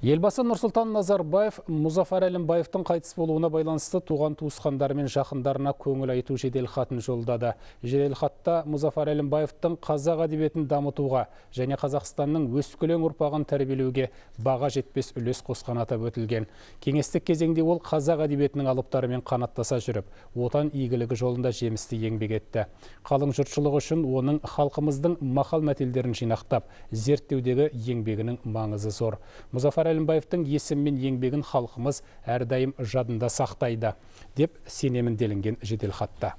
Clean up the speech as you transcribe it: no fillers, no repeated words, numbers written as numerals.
Елбасы Нұрсұлтан Назарбаев Мұзафар Әлімбаевтың қайтыс болуына байланысты туған туысқандары мен жақындарына көңіл айту жеделхатын жолдады. Жеделхатта Мұзафар Әлімбаевтың қазақ әдебиетін дамытуға және Қазақстанның өскелең ұрпағын тәрбиелеуге баға жетпес үлес қосқаны атап өтілген. Кеңестік кезеңде ол қазақ әдебиетінің алыптарымен қанаттаса жүріп, отан игілігі жолында жемісті еңбек етті. Қалың жұртшылық үшін оның халқымыздың мақал-мәтелдерін жинақтап, зерттеудегі еңбегінің маңызы зор. Мұзафар Әлімбаевтың есімі мен еңбегін халқымыз әрдайым жадында сақтайды, деп сенемін делінген жеделхатта.